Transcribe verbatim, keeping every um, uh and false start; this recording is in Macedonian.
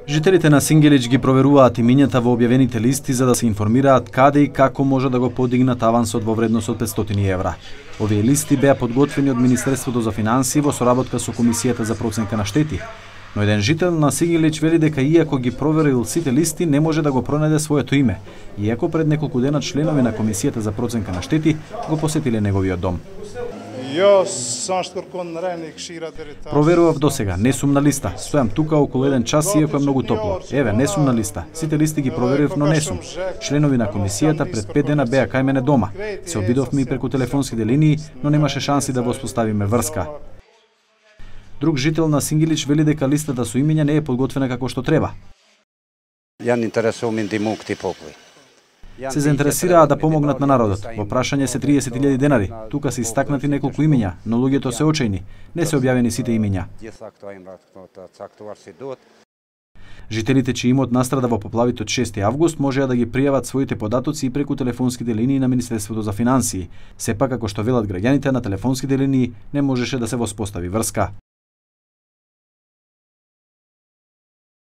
Жителите на Сингелич ги проверуваат имињата во објавените листи за да се информираат каде и како може да го подигнат авансот во вредност од петстотини евра. Овие листи беа подготвени од Министерството за финансии во соработка со Комисијата за проценка на штети. Но еден жител на Сингелич вели дека иако ги проверил сите листи, не може да го пронајде своето име, иако пред неколку дена членови на Комисијата за проценка на штети го посетиле неговиот дом. Проверував досега, не сум на листа. Стојам тука околу еден час иако е многу топло. Еве, не сум на листа. Сите листи ги проверив, но не сум. Членови на комисијата пред пет дена беа кај мене дома. Се обидовме и преку телефонските линии, но немаше шанси да воспоставиме врска. Друг жител на Сингелич вели дека листата со имиња не е подготвена како што треба. Ја не интересувам инди мукти попли. Се заинтересираа да помогнат на народот. Во прашање се триесет илјади денари. Тука се истакнати неколку имиња, но луѓето се очајни. Не се објавени сите имиња. Жителите чиј имот настрада во поплавите од шести август можеа да ги пријават своите податоци и преку телефонските линии на Министерството за финансии. Сепак, како што велат граѓаните, на телефонските линии не можеше да се воспостави врска.